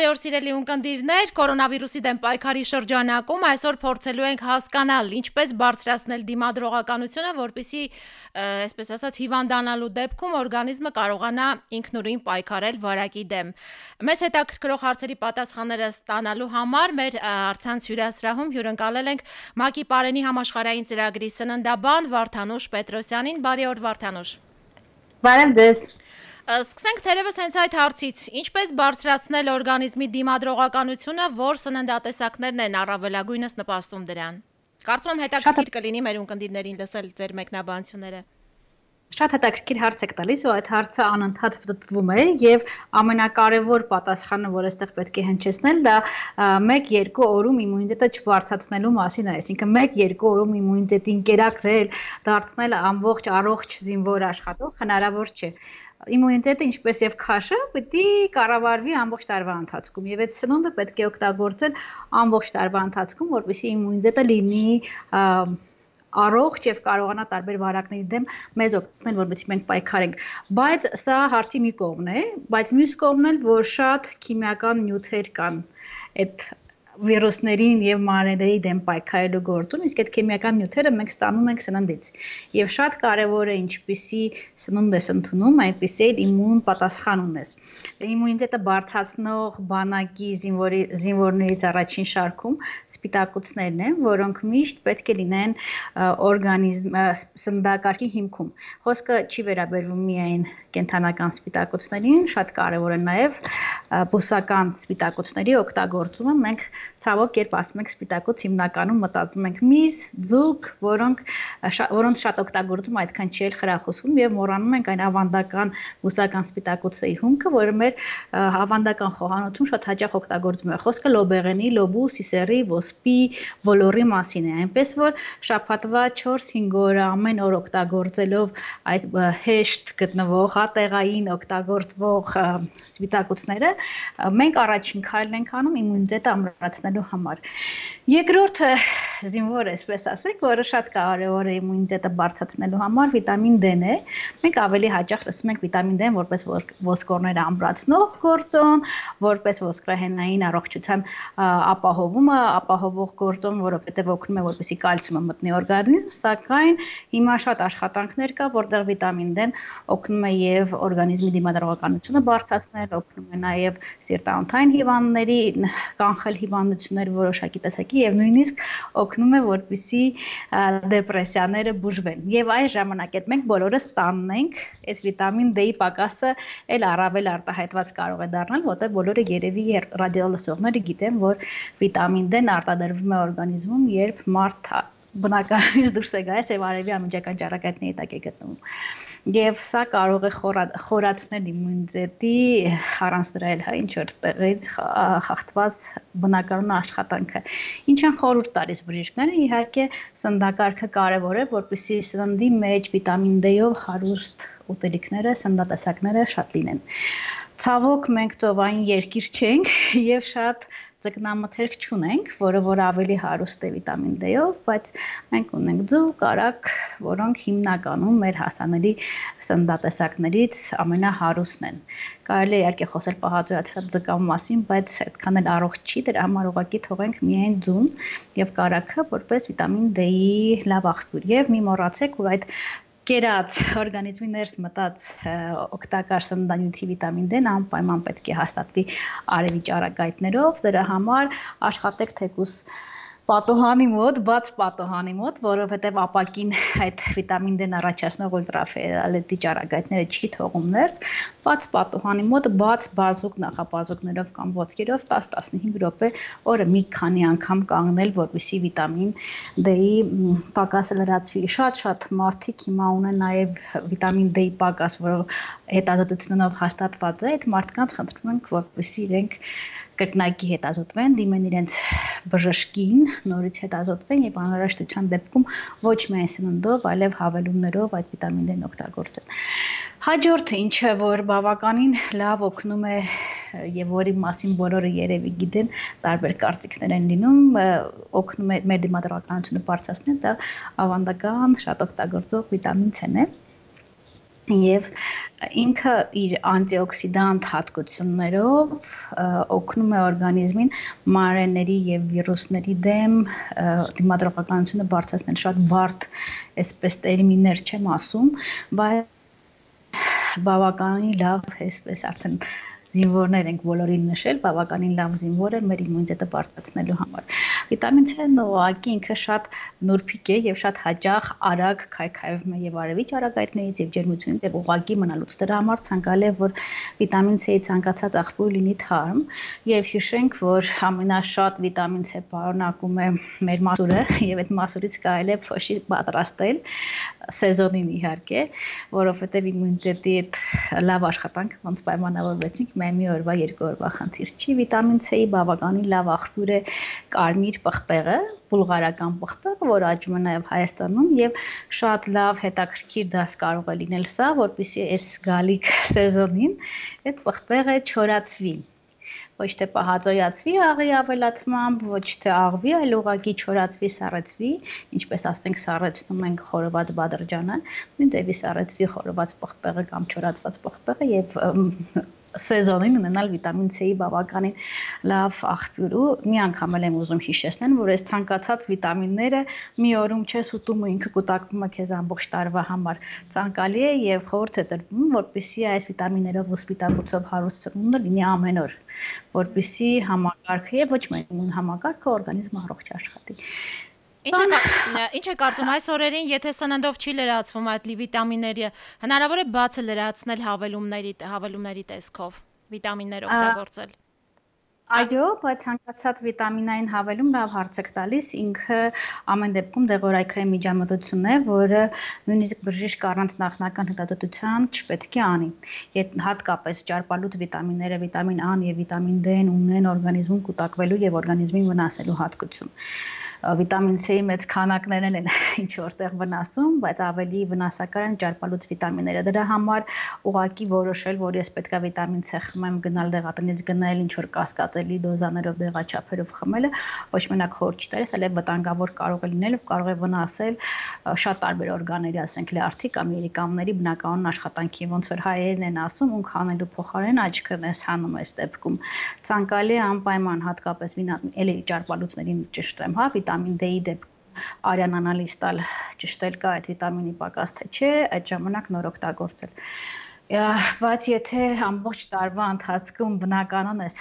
Բարի օր սիրելի ունկնդիրներ, կորոնավիրուսի դեմ պայքարի շրջանակում այսօր փորձելու ենք հասկանալ ինչպես բարձրացնել դիմադրողականությունը, որպեսզի, այսպես ասած, հիվանդանալու դեպքում օրգանիզմը կարողանա ինքնուրույն պայքարել վարակի դեմ։ Մեզ հետաքրքրող հարցերի պատասխանները ստանալու համար մեր առցանց հյուրասրահում հյուրընկալել ենք ՄԱԿ-ի Պարենի համաշխարհային ծրագրի սննդաբան Վարդանուշ Պետրոսյանին։ Բարի օր, Վարդանուշ։ Բարև ձեզ։ Սկսենք թերևս հենց այդ հարցից, ինչպես բարձրացնել օրգանիզմի դիմադրողականությունը, որ սննդատեսակներն են առավելագույնս նպաստում դրան։ Կարծում եմ հետաքրքիր կլինի մեր ունկնդիրներին լսել ձեր մեկնաբանությունները։ Շատ հետաքրքիր հարց եք տալիս ու այդ հարցը անընդհատ ֆտտվում է եւ ամենակարևոր պատասխանը, որ այստեղ պետք է հնչեցնել, դա 1-2 օրում իմունիտետը չբարձրացնելու մասին է, այսինքն 1-2 օրում իմունիտետին կերակրել, դարձնել ամբողջ առողջ զինվոր աշխատող հնարավոր չէ։ Իմունիտետը ինչպես եւ քաշը պիտի կառավարվի ամբողջ տարվա ընթացքում եւ այդ սնունդը պետք է օգտագործել ամբողջ տարվա ընթացքում, որպեսզի իմունիտետը լինի առողջ եւ կարողանա տարբեր վարակների դեմ մեզ օգնել, որպեսզի մենք պայքարենք, բայց սա հարցի մի կողմն է, բայց մյուս կողմն էլ, որ շատ քիմիական նյութեր կան այդ վիրուսներին եւ մանրէների դեմ պայքարելու գործում, իսկ այդ քիմիական նյութերը մենք ստանում ենք սննդից։ Եվ շատ կարեւոր է ինչպիսի սնունդ ես ընդունում, այնպիսի էլ իմուն պատասխան ունես։ Իմունիտետը բարձրացնող բանակի զինվորներից առաջին շարքում սպիտակուցներն են, որոնք միշտ պետք է լինեն սննդակարգի հիմքում։ Խոսքը չի վերաբերվում միայն կենդանական սպիտակուցներին, շատ կարեւոր է նաեւ բուսական սպիտակուցների օգտագործումը։ Մենք ցավոք երբ ասում ենք սպիտակոց, հիմնականում մտածում ենք միս, ձուկ, որոնց շատ օգտագործում այդքան չի խրախուսվում եւ մոռանում ենք այն ավանդական բուսական սպիտակոցի հումքը, որը մեր ավանդական խոհանոցում շատ հաճախ օգտագործվում է։ Խոսքը լոբեղենի, լոբու, սիսերի, ոսպի, ոլորի մասին է, այնպես որ շաբաթվա 4-5 օրը ամեն օր օգտագործելով այս հեշտ գտնվող, հատեղային օգտագործվող սպիտակուցները, մենք առաջին քայլն ենք անում իմունիտետը ամրացնելու համար։ Երկրորդը զինվոր է, այսպես ասենք, որը շատ կարևոր է իմունիտետը բարձրացնելու համար, վիտամին D-ն է։ Մենք ավելի հաճախ տեսնում ենք վիտամին D-ն որպես ոսկորները ամրացնող գործոն, որպես ոսկրահենային առողջության ապահովող գործոն, որովհետև օգնում է, որպեսզի կալցիումը մտնի օրգանիզմ, սակայն հիմա շատ աշխատանքներ կա, որտեղ վիտամին D-ն օգնում է եւ օրգանիզմի դիմադրողականությունը բարձրացնել, օգնում է նաեւ սիրտանոթային հիվանդների կանխել հիվանդություններ որոշակի տեսակի եւ նույնիսկ օգնում է, որպեսզի դեպրեսիաները բուժվեն։ Եվ այս ժամանակ այդ մենք բոլորս տանն ենք, այս վիտամին D-ի պակասը էլ առավել արտահայտված կարող է դառնալ, որտեղ բոլորը երևի ռադիոլսողները գիտեն, որ վիտամին D-ն արտադրվում է օրգանիզմում, երբ մարդ բնականից դուրս է գալիս եւ արևի ամիջական ճառագայթների տակ է գտնվում։ Եվ սա կարող է խորացնել իմունիտետի առանց դրա էլ ինչ որ տեղից խախտված բնականոն աշխատանքը։ Ինչ են խորհուրդ տալիս բժիշկները, իհարկե սննդակարգը կարևոր է, որպեսզի սննդի մեջ վիտամին D-ով հարուստ ուտելիքները, սննդատեսակները շատ լինեն։ Ցավոք մենք ծովային երկիր չենք եւ շատ ձկնամթերք չունենք, որը ավելի հարուստ է վիտամին D-ով, բայց մենք ունենք ձուկ, արակ, որոնք հիմնականում մեր հասանելի սննդատեսակներից ամենահարուստն են։ Կարելի է իհարկե խոսել պահածոյացած ձկան մասին, բայց այդքան էլ առողջ չի, դրա համար ուղղակի թողենք միայն ձուն եւ կարակը որպես վիտամին D-ի լավ աղբյուր։ Եվ մի մոռացեք, որ այդ կերած օրգանիզմի ներս մտած օգտակար սննդանյութի վիտամին D-ն անպայման պետք է հաստատվի արևի ճառագայթներով, դրա համար աշխատեք թեկուզ պատոհանի մոտ, բաց պատոհանի մոտ, որովհետև ապակին այդ վիտամին D-ն առաջացնող ուլտրաֆիոլետի ճառագայթները չի թողում ներս, բաց պատոհանի մոտ, բաց բազուկ նախաբազուկներով կամ ոտքերով 10-15 րոպե օրը մի քանի անգամ կանգնել, որպեսզի վիտամին D-ի պակասը լրացվի։ Շատ մարդիկ հիմա ունեն նաև վիտամին D-ի պակաս, որը հետազոտությունով հաստատված է, այդ մարդկանց խնդրում ենք, որպեսզի իրենք կրկնակի հետազոտվեն, դիմեն իրենց բժշկին, նորից հետազոտվեն եւ անհրաժեշտության դեպքում ոչ միայն սննդով, այլև հավելումներով այդ վիտամին D-ն օգտագործեն։ Հաջորդը, ինչը որ բավականին լավ օգնում է եւ որի մասին բոլորը երևի գիտեն, տարբեր կարծիքներ են լինում, օգնում է մեր դիմադրողականությունը բարձրացնել, դա ավանդական շատ օգտագործող վիտամին C-ն է։ Եվ ինքը իր անտիօքսիդանտ հատկություններով օգնում է օրգանիզմին մանրէների եւ վիրուսների դեմ դիմադրողականությունը բարձրացնել։ Շատ բարդ այսպես տերմիններ չեմ ասում, բայց բավականին լավ այսպես արդեն զինվորներ ենք բոլորին նշել, բավականին լավ զինվոր է մեր իմունիտետը բարձրացնելու համար։ Վիտամին C-ն ուղղակի ինքը շատ նուրբիկ է եւ շատ հաճախ արագ քայքայվում է եւ արևի ճառագայթներից եւ ջերմությունից եւ ուղղակի մնալուց։ Դրա համար ցանկալի է, որ վիտամին C-ի ցանկացած աղբյուր լինի թարմ եւ հիշենք, որ ամենաշատ վիտամին C պարունակում է մեր մասուրը եւ այդ մասուրից կարելի է փոշի պատրաստել սեզոնին իհարկե, որովհետեւ իմունիտետի այդ լավ աշխատանք ոնց պայմանավորվեցինք մի օրվա, երկու օրվա խնդիր չի, վիտամին C-ի բավականին լավ աղբյուր է կարմիր պղպեղը, բուլղարական պղպեղը, որը աճում է նաև Հայաստանում եւ շատ լավ հետաքրքիր դաս կարող է լինել սա, որպեսզի այս գալիք սեզոնին այդ պղպեղը չորացվի։ Ոչ թե պահածոյացվի աղի ավելացմամբ, ոչ թե աղվի, այլ ուղղակի չորացվի, սառեցվի, ինչպես ասենք սառեցնում ենք խորոված բադրջանը, նույն դեպի սառեցվի խորոված պղպեղը կամ չորացված պղպեղը եւ սեզոնին ունենալ վիտամին C-ի բավականին լավ աղբյուր ու մի անգամ եմ ուզում հիշեցնել, որ այս ցանկացած վիտամինները մի օրում չես ուտում ու ինքը կուտակվում է քեզ ամբողջ տարվա համար։ Ցանկալի է եւ խորհուրդ է տրվում, որպեսզի այս վիտամիններով ու սպիտակուցով հարուստ սնունդը լինի ամեն օր, որպեսզի համակարգը եւ ոչ միայն իմուն համակարգը օրգանիզմը առողջ աշխատի։ Ինչ է կարծում այս օրերին, եթե սննդով չի լրացվում այդ վիտամինները, հնարավոր է բացը լրացնել հավելումների տեսքով, վիտամիններ օգտագործել։ Այո, բայց ցանկացած վիտամինային հավելում լավ հարց եք տալիս, ինքը ամեն դեպքում դեղորայքային միջամտություն է, որը նույնիսկ բժիշկ առանց նախնական հետազոտության չպետք է անի։ Հատկապես ճարպալուտ վիտամինները, վիտամին A-ն եւ վիտամին D-ն ունեն օրգանիզմում կուտակվելու եւ օրգանիզմին վնասելու հատկություն։ Վիտամին C-ի մեծ քանակներն են ինչ որտեղ վնասում, բայց ավելի վնասակար են ճարպալուտ վիտամինները։ Դրա համար ուղղակի որոշել, որ ես պետքա վիտամին C խմեմ, գնալ դեղատնից գնել, ինչ որ կասկածելի դոզաներով դեղաչափերով խմելը, ոչ մենակ խոր չի տալիս, այլև վտանգավոր կարող է լինել, կարող է վնասել շատ տարբեր օրգանների, ասենք լյարդի կամ երիկամների բնականon աշխատանքի, ոնց որ հայերեն են ասում, ուն քանելու փոխարեն աչքն ես հանում այս դեպքում։ Ցանկալի է անպայման հատկապես էլի ճարպալուտներին ճշտ եմ, հա, վիտամին D-ի դեպքում արյան անալիզ տալ ճշտել կա այդ վիտամինի պակաս թե չէ, այդ ժամանակ նոր օգտագործել։ Բայց եթե ամբողջ տարվա ընթացքում բնականon այս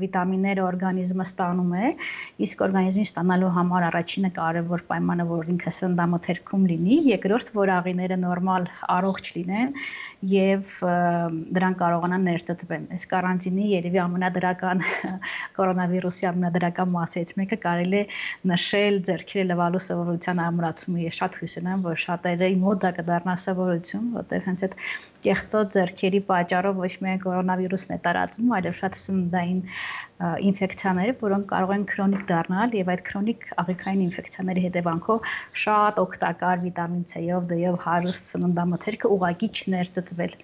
վիտամինները օրգանիզմը ստանում է, իսկ օրգանիզմի ստանալու համար առաջինը կարևոր պայմանը, որ ինքը սննդամթերքում լինի, երկրորդ, որ աղիները նորմալ առողջ լինեն եւ դրան կարողանան ներծծվեն։ Այս կարանտինի երևի ամենադրական կորոնավիրուսի ամենադրական մասերից մեկը կարելի է նշել ձեռքերը լվալու սովորության ամրացումը։ Ես շատ հույս ունեմ, որ շատերի մոտ դա կդառնա սովորություն, որտեղ հենց այդ կեղտոտ ձեռքերի պատճառով ոչ միայն կորոնավիրուսն է տարածվում, այլև շատ սննդային ինֆեկցիաներ, որոնք կարող են քրոնիկ դառնալ եւ այդ քրոնիկ աղիքային ինֆեկցիաների հետևանքով շատ օգտակար վիտամին C-ով, D-ով հարուստ սննդամթերքը ուղղակի չներծծվել։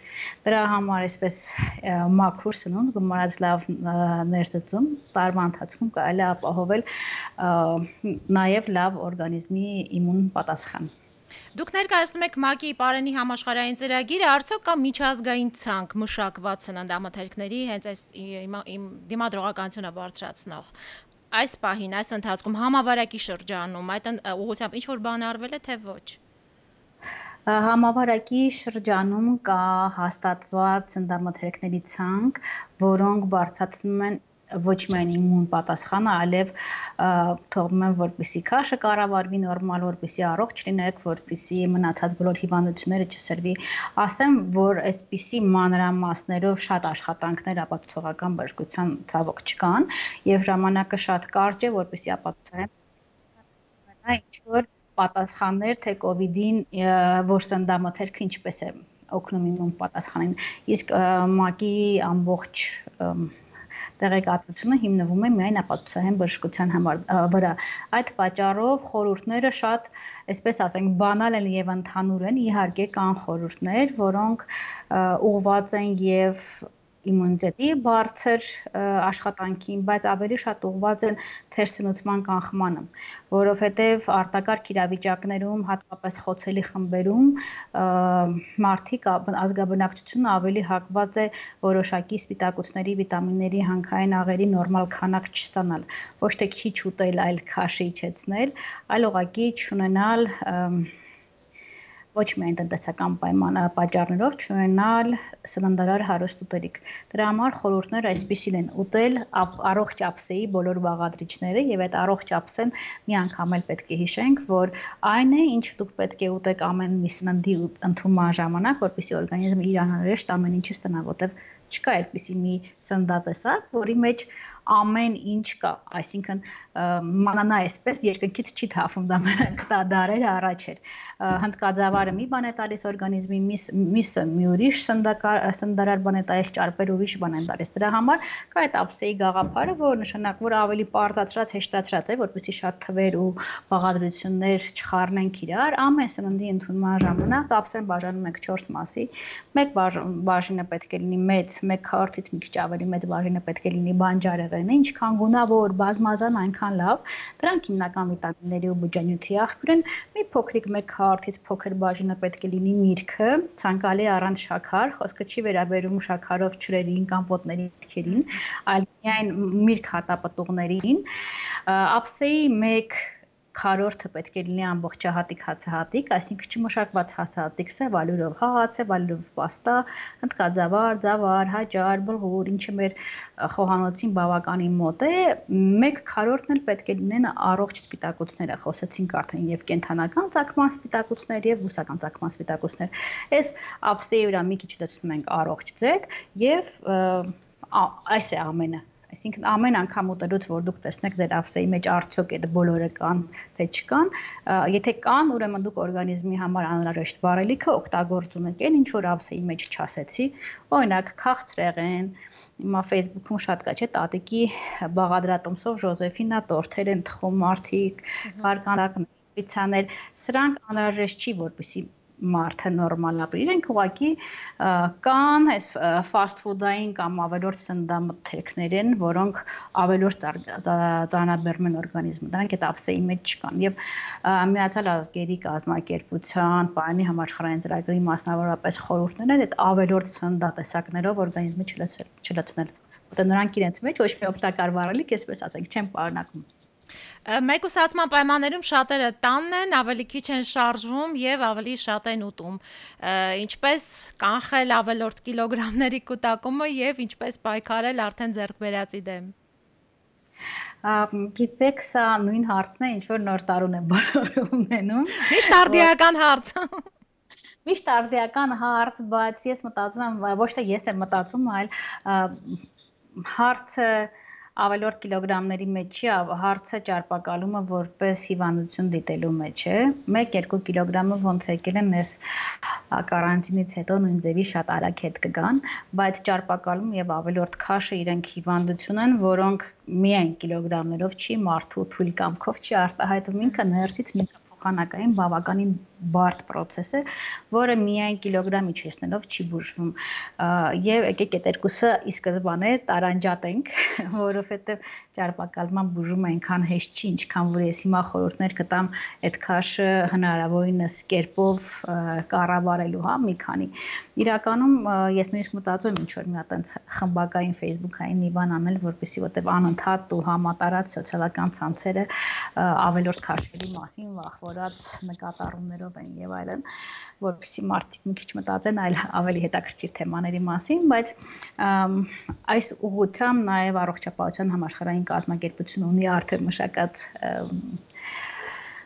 Դրա համար այսպես մաքուր սնունդ, գումարած լավ ներծծում, տարվա ընթացքում կարելի է ապահովել նաեւ լավ օրգանիզմի իմուն պատասխան։ Դուք ներկայացնում եք ՄԱԿ-ի Պարենի համաշխարհային ծրագիրը, արդյոք կա միջազգային ցանկ մշակված սննդամթերքների հենց այս դիմադրողականությունը բարձրացնող։ Այս պահին, այս ընթացքում համավարակի շրջանում այդ ուղղությամբ ինչ որ բան արվել է, թե ոչ։ Համավարակի շրջանում կա հաստատված սննդամթերքների ցանկ, որոնք բարձրացնում են ոչ միայն իմուն պատասխանը, այլև թողնում են, որպեսզի քաշը կառավարվի նորմալ, որպեսզի առողջ լինեք, որպեսզի մնացած բոլոր հիվանդությունները չսրվի։ Ասեմ, որ այսպիսի մանրամասներով շատ աշխատանքներ ապացուցողական բժշկության ցավոք չկան, եւ ժամանակը շատ կարճ է, որպեսզի ապացուցեն ինչ-որ պատասխաններ, թե COVID-ին որ սննդամթերքը ինչպես է օգնում իմուն պատասխանին։ Իսկ ՄԱԿ-ի ամբողջ տեղեկատվությունը հիմնվում է միայն ապացուցային բժշկության վրա։ Այդ պատճառով խորհուրդները շատ, այսպես ասենք, բանալ են եւ ընդհանուր են, իհարկե կան խորհուրդներ, որոնք ուղղված են եւ իմունիտետի բարձր աշխատանքին, բայց ավելի շատ ուղղված են թերսնուցման կանխմանը, որովհետև արտակարգ իրավիճակներում, հատկապես խոցելի խմբերում, մարդիկ ազգաբնակչությունը ավելի հակված է որոշակի սպիտակուցների, վիտամինների, հանքային աղերի նորմալ քանակ չստանալ, ոչ թե քիչ ուտել, այլ քաշը իջեցնել, այլ ուղղակի չունենալ ոչ միայն տնտեսական պատճառներով չունենալ սննդարար հարուստ ուտելիք։ Դրա համար խորհուրդները այսպիսին են՝ ուտել առողջ ափսեի բոլոր բաղադրիչները եւ այդ առողջ ափսեն մի անգամ էլ պետք է հիշենք, որ այն է, ինչ դուք պետք է ուտեք ամեն մի սննդի ընդունման ժամանակ, որպեսզի օրգանիզմը իր անհրաժեշտ ամեն ինչը ստանա, որտեղ չկա այդպիսի մի սննդատեսակ, որի մեջ ամեն ինչ կա, այսինքն մանանա այսպես երկնքից չի թափում, դա մենակ դարեր առաջ էր։ Հնդկաձավարը մի բան է տալիս օրգանիզմի, միսը մի ուրիշ սննդարար բան է տալիս, ճարպերը ուրիշ բան են տալիս։ Դրա համար կա այդ ափսեի գաղափարը, որը նշանակում որ ավելի պարզացրած, հեշտացրած է, որպեսզի շատ թվեր ու բաղադրություններ չխառնենք իրար։ Ամեն սննդի ընդունման ժամանակ ափսեն բաժանում ենք 4 մասի։ Մեկ բաժինը պետք է լինի մեծ, մեկ քառորդից մի քիչ ավելի մեծ բաժինը պետք է լինի բանջարեղենը, ինչքան գունավոր, բազմազան, այնքան լավ։ Դրանք հիմնական վիտամինների ու բջջանյութի աղբյուր են։ Մի փոքրիկ մեկ քառորդից փոքր բաժինը պետք է լինի միրգը, ցանկալի առանց շաքար, խոսքը չի վերաբերում շաքարով ջրերին կամ ոտների միրգերին, այլ միայն միրգ հատապտուղներին։ Ափսեի մեկ քառորդը պետք է լինի ամբողջահատիկ հացահատիկ, այսինքն չմշակված հացահատիկ, սև ալյուրով հաց, ալյուրով պաստա, հնդկաձավար, ձավար, հաճար, բլղուր, ինչը մեր խոհանոցին բավականին մոտ է, մեկ քառորդն էլ պետք է լինեն առողջ սպիտակուցները, խոսեցինք արդեն եւ կենթանական ծագման սպիտակուցներ եւ բուսական ծագման սպիտակուցներ։ Այս ափսեի վրա մի քիչ դասում ենք առողջ ձետ եւ այս է ամենը։ Այսինքն ամեն անգամ ուտելուց որ դուք տեսնեք ձեր ափսեի մեջ արդյոք այդ բոլորը կան, թե չկան, եթե կան, ուրեմն դուք օրգանիզմի համար անհրաժեշտ վառելիքը օգտագործում եք, այն ինչ որ ափսեի մեջ չասեցի, օրինակ քաղցրեղեն, հիմա Facebook-ում շատ կա, չէ՞, տատիկի բաղադրատոմսով Ժոզեֆինա տորթեր են թխում մարդիկ, կարկանդակներ, պիցցաներ, սրանք անհրաժեշտ չի, որպեսզի մարդը նորմալ ապրի, իրենք ուղղակի կան այս fast food-ային կամ ավելորդ սննդամթերքներ են, որոնք ավելորդ ծանրաբեռնում են օրգանիզմը, դրանք այդ ափսեի մեջ չկան եւ Միացյալ Ազգերի կազմակերպության Պարանի համաշխարհային ծրագրի մասնավորապես խորհուրդներն են այդ ավելորդ սննդատեսակներով օրգանիզմը չլցնել, որտեղ նրանք իրենց մեջ ոչ մի օգտակար վառելիք, այսպես ասենք, չեն պարունակում։ Մեկուսացման պայմաններում շատերը տանն են, ավելի քիչ են շարժվում եւ ավելի շատ են ուտում։ Ինչպես կանխել ավելորդ կիլոգրամների կուտակումը եւ ինչպես պայքարել արդեն ձեռք բերածի դեմ։ Գիտեք, սա նույն հարցն է, ինչ որ նոր տարուն է բոլորը ունենում։ Միշտ արդիական հարց։ Միշտ արդիական հարց, բայց ես մտածում եմ, ոչ թե ես եմ մտածում, այլ հարցը ավելորդ կիլոգրամների մեջ չի, հարցը ճարպակալումը որպես հիվանդություն դիտելու մեջ է։ 1-2 կիլոգրամը ոնց եկել են այս կարանտինից հետո նույն ձևի շատ արագ հետ կգան, բայց ճարպակալում եւ ավելորդ քաշը իրենք հիվանդություն են, որոնք միայն կիլոգրամներով չի, մարդու թույլ կամքով չի արտահայտվում, ինքը ներսից նյութափոխանակային բավականին բարդ process է, որը միայն կիլոգրամ իջեցնելով չի բուժվում։ Եվ եկեք այդ երկուսը ի սկզբանե տարանջատենք, որովհետև ճարպակալման բուժումը այնքան հեշտ չի, ինչքան որ ես հիմա խորհուրդներ կտամ այդ քաշը հնարավորինս կերպով կառավարելու, հա, մի քանի։ Իրականում ես նույնիսկ մտածում եմ ինչ որ մի հատ այնց խմբակային Facebook-ային մի բան անել, որպեսզի որտեվ անընդհատ ու համատարած սոցիալական ցանցերը ավելորդ քաշերի մասին վախվորած նկատառումներով են եւ այլն, որպեսզի մարդիկ մի քիչ մտածեն այլ ավելի հետաքրքիր թեմաների մասին, բայց այս ուղղությամբ նաեւ առողջապահության համաշխարհային կազմակերպությունը ունի արդեն մշակած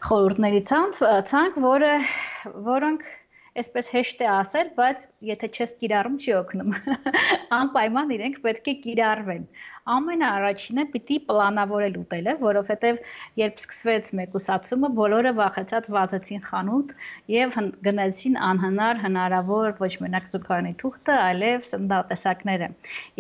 խորհուրդների ցանկ, որոնք այսպես հեշտ է ասել, բայց եթե չես կիրառում չի օգնում։ Անպայման իրենք պետք է կիրառվեն։ Ամենաառաջինը պիտի պլանավորել ուտելը, որովհետև երբ սկսվեց մեկուսացումը, բոլորը վախեցած վազեցին խանութ եւ գնացին անհնար հնարավոր ոչ մենակ զուգարանի թուղթը, այլև սննդատեսակները։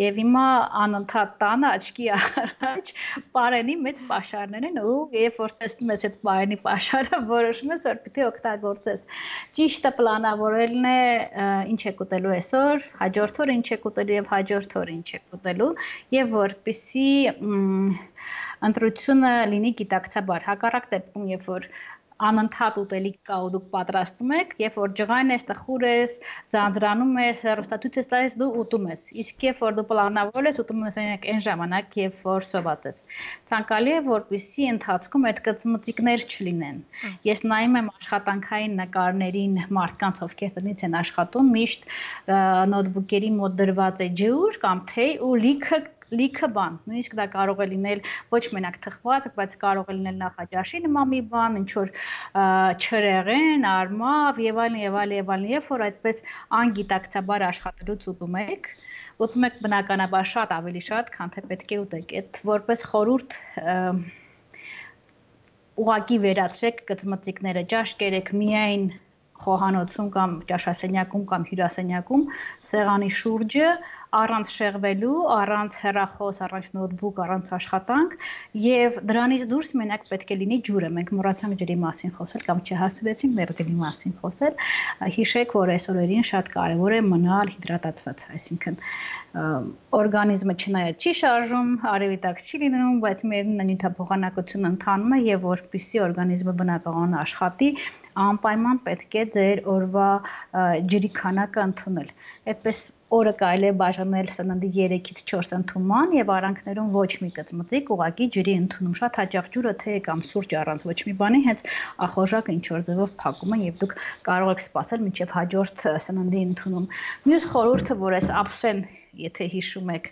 Եվ հիմա անընդհատ տանը աչքի առաջ պարենի մեծ պաշարներ են ու երբ որ տեսնում ես այդ պարենի պաշարը, որոշում ես որ պիտի օգտագործես։ Ճիշտը պլանավորել պլանավորելն է ինչ եք ուտելու այսօր, հաջորդ օրը ինչ եք ուտելու եւ հաջորդ օրը ինչ եք ուտելու եւ որպեսզի ընտրությունը լինի գիտակցաբար։ Հակառակ դեպքում, երբ որ անընդհատ ուտելիք կա ու դուք պատրաստում եք, երբ որ ջղայն ես, տխուր ես, ձանձրանում ես, հեռուստացույց ես տալիս, դու ուտում ես։ Իսկ երբ որ դու պլանավորել ես, ուտում ես այն ժամանակ, երբ որ սոված ես։ Ցանկալի է, որպեսզի ընթացքում այդ կծմծիկներ չլինեն։ Ես նայում եմ աշխատանքային նկարներին մարդկանց, ովքեր տնից են աշխատում, միշտ նոթբուքերի մոտ դրված է ջուր կամ թեյ ու լիքը բան, նույնիսկ դա կարող է լինել ոչ մենակ թխված, բայց կարող է լինել նախաճաշի նման մի բան, ինչ որ չրեղեն, արմավ եւ այլն, երբ որ այդպես անգիտակցաբար աշխատելուց ուտում եք բնականաբար շատ ավելի շատ, քան թե պետք է ուտեք։ Այդ որպես խորհուրդ ուղղակի վերացրեք կծմծիկները, ճաշկերեք միայն խոհանոցում կամ ճաշասենյակում կամ հյուրասենյակում սեղանի շուրջը առանց շեղվելու, առանց հեռախոս, առանց նոթբուք, առանց աշխատանք եւ դրանից դուրս մենակ պետք է լինի ջուրը։ Մենք մոռացանք ջրի մասին խոսել կամ չհասցրեցինք մերձելի մասին խոսել։ Հիշեք, որ այս օրերին շատ կարեւոր է մնալ հիդրատացված, այսինքն օրգանիզմը չնայած չի շարժում, արևի տակ չի լինում, բայց միևնույն է նյութափոխանակությունը ընթանում է եւ որպեսզի օրգանիզմը բնականon աշխատի, անպայման պետք է ձեր օրվա ջրի քանակը ընդունել։ Այդպես օրը կարելի է բաժանել սննդի 3-ից 4 ընդունման եւ արանքներում ոչ մի կծմծիկ, ուղղակի ջրի ընդունում, շատ հաճախ ջուրը թե կամ սուրճ առանց ոչ մի բանի, հենց ախորժակը ինչ որ ձևով փակում են եւ դուք կարող եք սպասել մինչեւ հաջորդ սննդի ընդունում։ Մյուս խորհուրդը, որ այս ափսեն, եթե հիշում եք,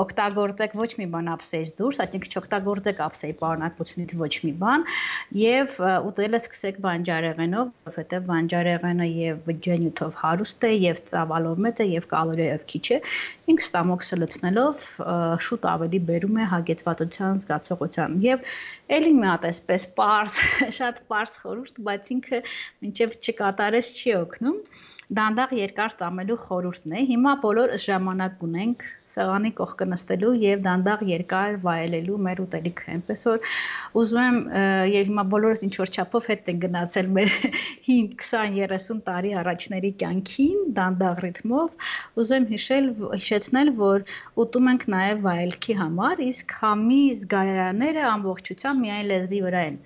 օգտագործեք ոչ մի բան ափսեից դուրս, այսինքն չօգտագործեք ափսեի պարունակությունից ոչ մի բան եւ ուտելը սկսեք բանջարեղենով, որովհետեւ բանջարեղենը եւ բջջանյութով հարուստ է եւ ծավալով մեծ է եւ կալորիայով քիչ է, ինքը ստամոքսը լցնելով շուտ ավելի բերում է հագեցվածության զգացողության եւ ելի մի հատ այսպես պարզ, շատ պարզ խորհուրդ, բայց ինքը մինչեւ չկատարես չի օգնում։ Դանդաղ երկար ծամելու խորհուրդն է։ Հիմա բոլոր ժամանակ ունենք սեղանի կողքը նստելու եւ դանդաղ երկար վայելելու մեր ուտելիքը։ Այնպես որ ուզում եմ եւ հիմա բոլորս ինչ որ չափով հետ են գնացել մեր 20-30 տարի առաջների կյանքին դանդաղ ռիթմով, ուզում եմ հիշեցնել, որ ուտում ենք նաեւ վայելքի համար, իսկ համի զգայարանները ամբողջությամբ միայն լեզվի վրա են։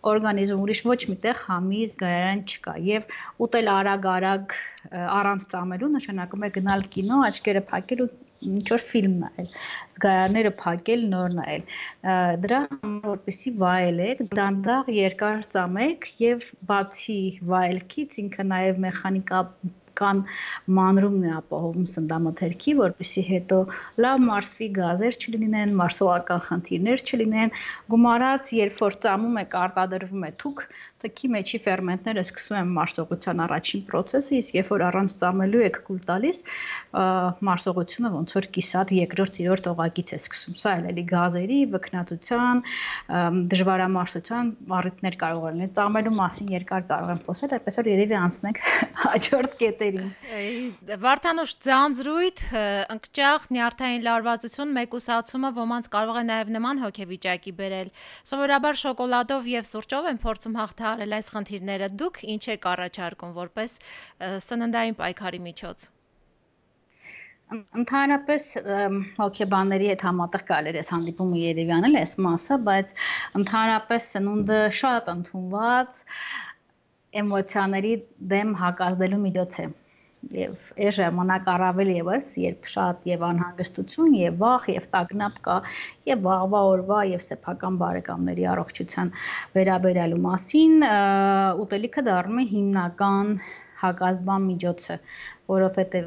Օրգանիզմ ուրիշ ոչ միտեղ համի զգայարան չկա եւ ուտել արագ առանց ծամելու նշանակում է գնալ կինո, աչքերը փակել ու ինչ որ ֆիլմ նայել, զգայարանները փակել, նոր նայել։ Դրա համար որպեսզի վայելեք, դանդաղ երկար ծամեք եւ բացի վայելքից ինքը նաեւ մեխանիկական մանրումն է ապահովում սննդամթերքի, որպեսզի հետո լավ մարսվի, գազեր չլինեն, մարսողական խնդիրներ չլինեն, գումարած երբ որ ծամում եք, արտադրվում է թուք, թքի մեջի ֆերմենտները սկսում են մարսողության առաջին process-ը, իսկ երբ որ առանց ծամելու եք կուլ տալիս, մարսողությունը ոնց որ կիսատ երկրորդ, երրորդ օղակից է սկսում։ Սա էլ էլի գազերի, վքնածության, դժվարամարսության առիթներ կարող են լինել։ Ծամելու մասին երկար կարող եմ խոսել, այդպես որ երևի անցնենք հաջորդ կետերին։ Վարդանուշ, ձանձրույթ, ընկճախ, նյարդային լարվածություն, մեկուսացումը ոմանց կարող է նաև նման հոգեվիճակի բերել։ Սովորաբար շոկոլադով եւ սուրճով են փորձում հաղթահարել այս խնդիրները։ Դուք ինչ եք առաջարկում որպես սննդային պայքարի միջոց։ Ընդհանրապես հոգեբանների հետ համատեղ կարելի է հանդիպումը երևի անել այս մասը, բայց ընդհանրապես սնունդը շատ ընդունված էմոցիաների դեմ հակազդելու միջոց է։ Եվ այս ժամանակ առավել եւս, երբ շատ եւ անհանգստություն, եւ վախ, եւ տագնապ կա, եւ վաղվա օրվա եւ սեփական բարեկամների առողջության վերաբերյալու մասին, ուտելիքը դառնում է հիմնական հակազդման միջոցը, որովհետև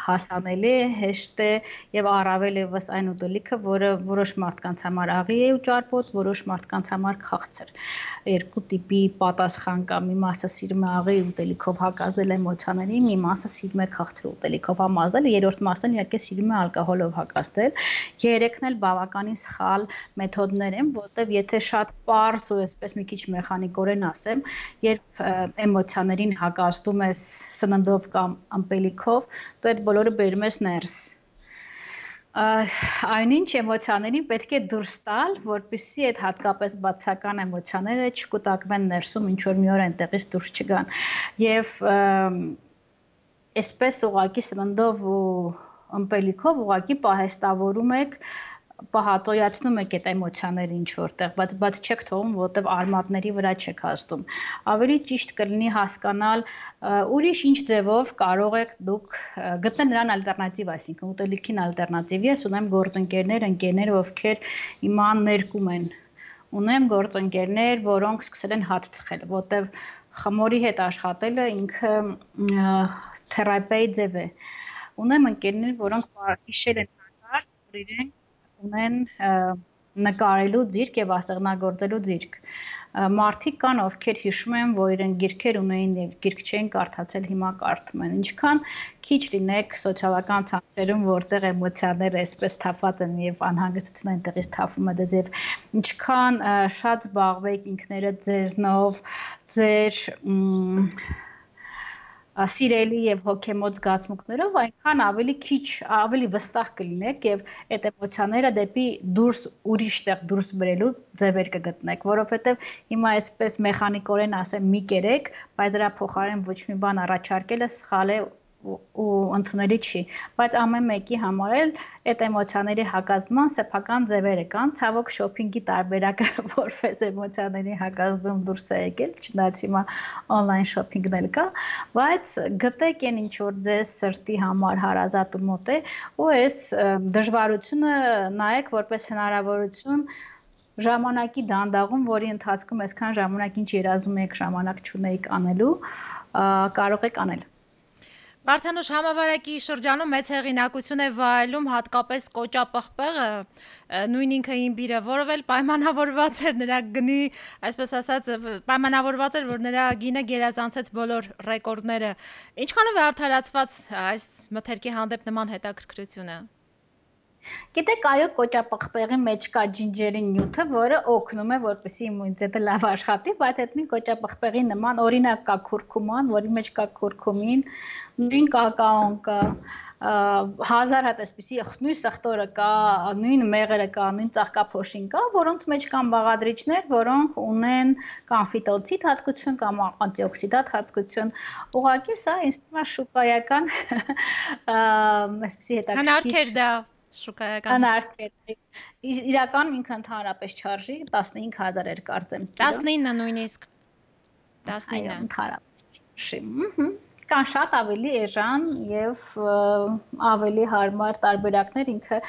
հասանելի է, հեշտ է եւ առավել եւս այն ուտելիքը, որը որոշ մարդկանց համար աղի է ու ճարպոտ, որոշ մարդկանց համար քաղցր։ Երկու տիպի պատասխան կա, մի մասը սիրում է աղի ուտելիքով հակազդել էմոցիաների, մի մասը սիրում է քաղցր ուտելիքով համազդել, երրորդ մասն իհարկե սիրում է ալկոհոլով հակազդել։ Երեքն էլ բավականին սխալ մեթոդներ են, որտեղ եթե շատ պարզ ու այսպես մի քիչ մեխանիկորեն ասեմ, երբ էմոցիաներին հակազդում ես սննդով կամ ըմպելիքով, դու այդ բոլորը բերում ես ներս։ Այնինչ էմոցիաներին պետք է դուրս տալ, որպեսզի այդ հատկապես բացական էմոցիաները չկուտակվեն ներսում, ինչ որ մի օր այնտեղից դուրս չգան։ Եվ այսպես ուղղակի սննդով ու ըմպելիքով ուղղակի պահեստավորում եք, պահատոյացնում եք այդ էմոցիաները ինչ որտեղ, բայց չեք թողում, որտեղ արմատների վրա չեք հաստում։ Ավելի ճիշտ կլինի հասկանալ ուրիշ ինչ ձևով կարող եք դուք գտնել նրան ալտերնատիվ, այսինքն ուտելիքին ալտերնատիվ։ Ես ունեմ գործընկերներ, ընկերներ, ովքեր հիմա ներկում են։ Ունեմ գործընկերներ, որոնք սկսել են հաց թխել, որտեղ խմորի հետ աշխատելը ինքը թերապիայի ձև է։ Ունեմ ընկերներ, որոնք հիշել են հանկարծ, որ իրենք ունեն նկարելու ձիրք եւ աստղնագործելու ձիրք։ Մարդիկ կան, ովքեր հիշում են, որ իրենք գիրքեր ունեին եւ գիրք չէին կարդացել, հիմա կարդում են։ Ինչքան քիչ լինեք սոցիալական ցանցերում, որտեղ էմոցիաները այսպես թափված են եւ անհանգստությունը այնտեղից թափվում է ձեզ, եւ ինչքան շատ զբաղվեք ինքներդ ձեզնով, ձեր սիրելի եւ հոգեմոտ զգացմունքներով, այնքան ավելի քիչ, ավելի վստահ կլինեք եւ այդ էմոցիաները դեպի դուրս ուրիշ տեղ դուրս բերելու ձևեր կգտնեք, որովհետեւ հիմա այսպես մեխանիկորեն ասեմ մի կերեք, բայց դրա փոխարեն ոչ մի բան առաջարկելը սխալ է ու ընդունելի չի, բայց ամեն մեկի համար էլ այդ էմոցիաների հակազդման սեփական ձևերը կան, ցավոք շոփինգի տարբերակը որպես էմոցիաների հակազդում դուրս է եկել, չնայած հիմա on-line շոփինգն էլ կա, բայց գտեք այն ինչ որ ձեզ սրտի համար հարազատ ու մոտ է, ու այս դժվարությունը նայեք որպես հնարավորություն ժամանակի դանդաղում, որի ընթացքում այսքան ժամանակ ինչ երազում եք, ժամանակ չունեիք անելու, կարող եք անել։ Վարդանուշ, համավարակի շրջանում մեծ հեղինակություն է վայելում հատկապես կոճապղպեղը, նույն ինքը իմբիրը, որով էլ պայմանավորված էր նրա գնի, այսպես ասած, պայմանավորված էր, որ նրա գինը գերազանցեց բոլոր ռեկորդները։ Ինչքանով է արդարացված այս մթերքի հանդեպ նման հետաքրքրությունը։ Գիտեք, այո, կոճապղպեղի մեջ կա ջինջերի նյութը, որը օգնում է, որպեսզի իմունիտետը լավ աշխատի, բայց այդ նույն կոճապղպեղի նման օրինակ կա քուրքուման, որի մեջ կա քուրքումին, նույն կակաոն կա, հազար հատ այսպիսի նույն սխտորը կա, նույն մեղրը կա, նույն ծաղկափոշին կա, որոնց մեջ կան բաղադրիչներ, որոնք ունեն կամ ֆիտոցիդ հատկություն կամ անտիօքսիդանտ հատկություն։ Ուղղակի սա ինձ թվում է շուկայական այսպիսի հետաքրքիր հնարքեր դա շուկայական հնարքեր։ Իրականում ինքը ընդհանրապես չարժի 15000 էր կարծեմ։ 19 նույնիսկ 19 այո, ընդհանրապես չարժի։ Կան շատ ավելի էժան եւ ավելի հարմար տարբերակներ, ինքը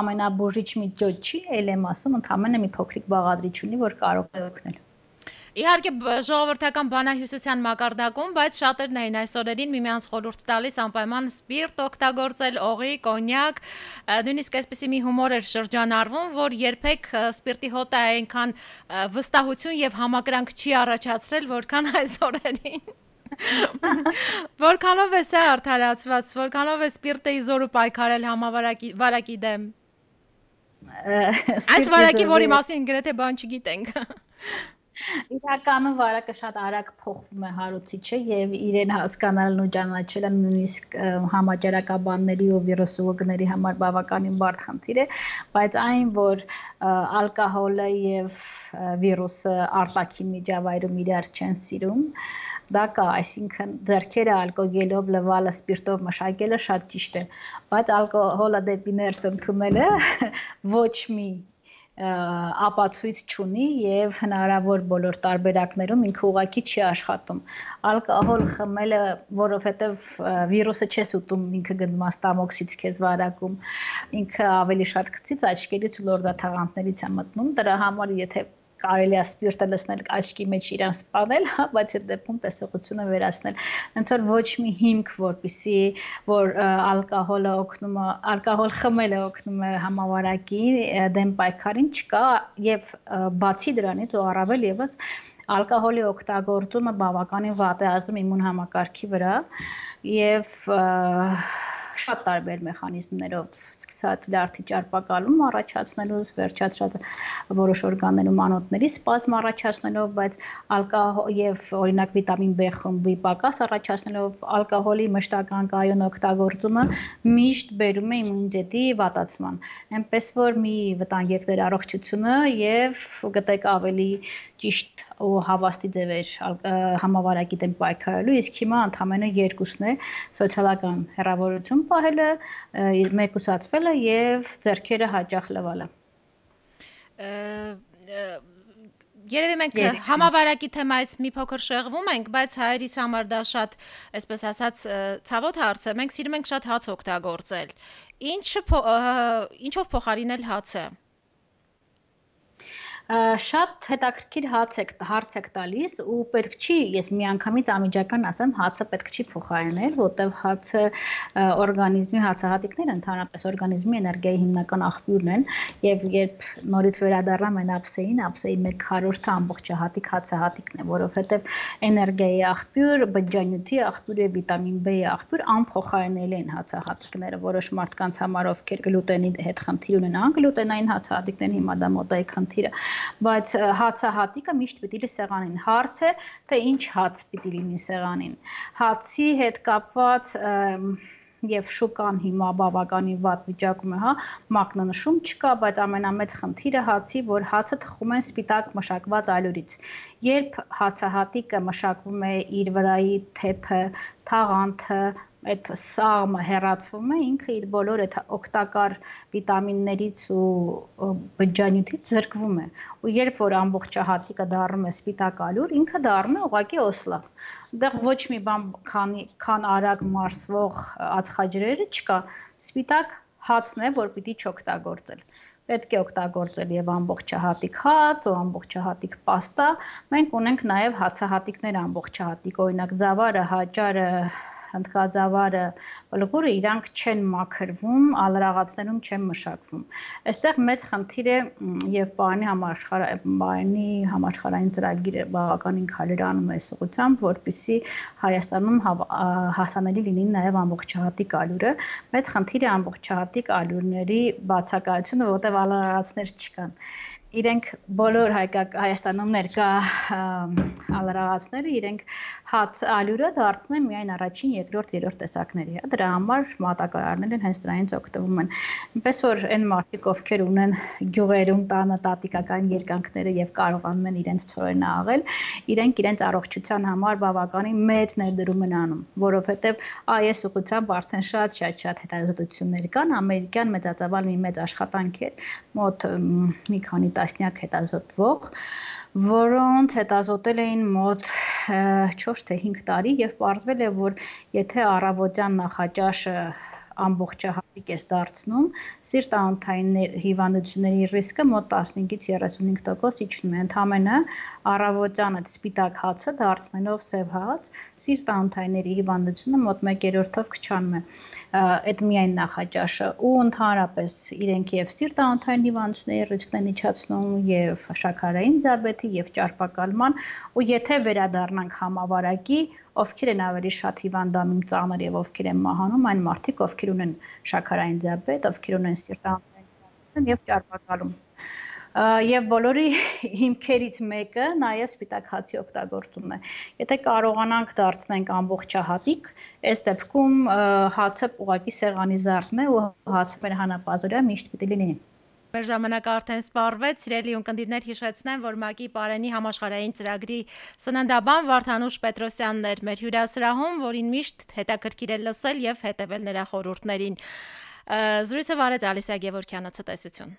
ամենաբուժիչ մի ճոճ չի, ել եմ ասում, ընդհանրապես մի փոքրիկ բաղադրիչ ունի, որ կարող է օգնել։ Իհարկե ժողովրդական բանահյուսության մակարդակում, բայց շատերն էին այս օրերին միմյանց խորհուրդ տալիս անպայման սպիրտ օգտագործել, օղի, կոնյակ, նույնիսկ այսպեսի մի հումոր էր շրջանառվում, որ երբեք սպիրտի հոտը այնքան վստահություն եւ համակրանք չի առաջացրել, որքան այս օրերին։ Որքանով է սա արդարացված, որքանով է սպիրտը իզորու պայքարել համավարակի դեմ։ Այս վարակի, որի մասին գրեթե բան չգիտենք։ Իրականում վարակը շատ արագ փոխվում է հարուցիչը եւ իրեն հասկանալն ու ճանաչելը նույնիսկ համաճարակաբանների ու վիրուսոլոգների համար բավականին բարդ խնդիր է, բայց այն, որ ալկոհոլը եւ վիրուսը արտաքին միջավայրում իրար չեն սիրում, դա կա, այսինքն ձեռքերը ալկոգելով, լվալը, սպիրտով մշակելը շատ ճիշտ է, բայց ալկոհոլը դեպի ներս ընդունելը ոչ մի ապացույց չունի եւ հնարավոր բոլոր տարբերակներում ինքը ուղղակի չի աշխատում։ Ալկոհոլ խմելը, որովհետեւ վիրուսը չես ուտում, ինքը գնում է ստամոքսից քեզ վարակում, ինքը ավելի շատ գծից աչքերից ու լորդաթաղանթներից է մտնում, դրա համար եթե կարելի է սպիրտը լցնել աչքի մեջ իրան սպանել, բայց այդ դեպքում տեսողությունը վերացնել։ Ոնց որ ոչ մի հիմք, որպեսի որ ալկոհոլ խմելը օգնում է համավարակի դեմ պայքարին չկա եւ բացի դրանից ու առավել եւս ալկոհոլի օգտագործումը բավականին վատ է ազդում իմուն համակարգի վրա եւ շատ տարբեր մեխանիզմներով, սկսած լյարդի ճարպակալում առաջացնելուց, վերջացած որոշ օրգաններում անոթների սպազմ առաջացնելով, բայց եւ օրինակ վիտամին B խմբի պակաս առաջացնելով ալկոհոլի մշտական կայուն օգտագործումը միշտ բերում է իմունիտետի վատացման։ Այնպես որ մի վտանգեք դեր առողջությունը եւ գտեք ավելի ճիշտ ու հավաստի ձևեր համավարակի դեմ պայքարելու, իսկ հիմա ընդամենը երկուսն է՝ սոցիալական հեռավորություն պահելը, մեկուսացվելը եւ ձեռքերը հաճախ լվալը։ Երևի մենք համավարակի թեմայից մի փոքր շեղվում ենք, բայց հայերիս համար դա շատ, այսպես ասած, ցավոտ հարց է։ Մենք սիրում ենք շատ հաց օգտագործել։ Ինչով փոխարինել հացը։ Շատ հետաքրքիր հարց եք տալիս ու պետք չի, ես միանգամից անմիջական ասեմ, հացը պետք չի փոխարինել, որտեղ հացը օրգանիզմի հացահատիկները ընդհանրապես օրգանիզմի էներգիայի հիմնական աղբյուրն են եւ երբ նորից վերադառնամ այն ափսեին մեր քառորդը ամբողջահատիկ հացահատիկն է, որովհետեւ էներգիայի աղբյուր, բջջանյութի աղբյուր եւ վիտամին B-ի աղբյուր անփոխարինելի են հացահատիկները, որոշ մարդկանց համար ովքեր գլուտենի հետ խնդիր ունեն, անգլուտենային հացահատիկներ հիմա դա մոդայի խնդիր է, բայց հացահատիկը միշտ պիտի լի սեղանին։ Հարց է, թե ինչ հաց պիտի լինի սեղանին։ Հացի հետ կապված եւ շուկան հիմա բավականին վատ վիճակում է, մակնանշում չկա, բայց ամենամեծ խնդիրը հացի, որ հացը թխում են սպիտակ մշակված ալյուրից։ Երբ հացահատիկը մշակվում է իր վրայի թեփը, թաղանթը, այդ սաղմը հեռացվում է, ինքը իր բոլոր այդ օգտակար վիտամիններից ու բջջանյութից զրկվում է։ Ու երբ որ ամբողջահատիկը դառնում է սպիտակ ալյուր, ինքը դառնում է ուղղակի օսլա։ Դեռ ոչ մի բան քան արագ մարսվող ածխաջրերը չկա։ Սպիտակ հացն է, որ պիտի չօգտագործել։ Պետք է օգտագործել եւ ամբողջահատիկ հաց ու ամբողջահատիկ պաստա։ Մենք ունենք նաեւ հացահատիկներ ամբողջահատիկ, օրինակ ձավարը, հաճարը, հնդկաձավարը, բլուղուրը իրանք չեն մաքրվում, ալրաղացներում չեն մշակվում։ Այստեղ մեծ խնդիր է եւ պարանի համաշխարհային ծրագիրը բավականին քայլեր անում է այս ուղղությամբ, որպեսզի Հայաստանում հասանելի լինի նաեւ ամբողջահատիկ ալյուրը։ Մեծ խնդիր է ամբողջահատիկ ալյուրների բացակայությունը, որտեղ ալրաղացներ չկան։ Իրենք բոլոր Հայաստանում ներկա ալրաղացները իրենք հաց ալյուրը դարձնում են միայն առաջին, երկրորդ, երրորդ տեսակների, դրա համար մատակարարներն հենց դրանից օգտվում են։ Այնպես որ այն մարդիկ, ովքեր ունեն գյուղերում տանը տատիկական երկանքները եւ կարողանում են իրենց ծորենը աղել, իրենք իրենց առողջության համար բավականին մեծ ներդրում են անում, որովհետեւ այս ուղղությամբ արդեն շատ հետազոտություններ կան, ամերիկյան մեծածավալ մի մեծ աշխատանք է, մոտ մի քանի տասնյակ հետազոտվող, որոնց հետազոտել էին մոտ 4 թե 5 տարի եւ պարզվել է, որ եթե առավոտյան նախաճաշը ամբողջահատիկ է դարձնում, սիրտ-անոթային հիվանդությունների ռիսկը մոտ 15-ից 35% իջնում է։ Ընդամենը առավոտյան այդ սպիտակ հացը դարձնելով սև հաց, սիրտ-անոթային հիվանդությունը մոտ 1/3-ով կչանում է։ Այդ միայն նախաճաշը ու ընդհանրապես իրենք եւ սիրտ-անոթային հիվանդությունների ռիսկն են իջացնում եւ շաքարային դիաբետի եւ ճարպակալման ու եթե վերադառնանք համավարակի ովքեր են ավելի շատ հիվանդանում ծանր եւ ովքեր են մահանում, այն մարդիկ, ովքեր ունեն շաքարային դիաբետ, ովքեր ունեն սիրտ-անոթային հիվանդություն եւ ճարպակալում։ Եվ բոլորի հիմքերից մեկը նաեւ սպիտակ հացի օգտագործումն է։ Եթե կարողանանք դարձնենք ամբողջահատիկ, այս դեպքում հացը ուղղակի սեղանի զարդն է ու հացը մեր հանապազորյա միշտ պիտի լինի։ Մեր ժամանակը արդեն սպառվեց, սիրելի ունկնդիրներ, հիշեցնեմ, որ ՄԱԿ-ի Պարենի համաշխարհային ծրագրի սննդաբան Վարդանուշ Պետրոսյանն էր մեր հյուրասրահում, որին միշտ հետաքրքիր է լսել եւ հետեւել նրա խորհուրդներին։ Զրույցը վարեց Ալիսա Գևորգյանը, ցտեսություն։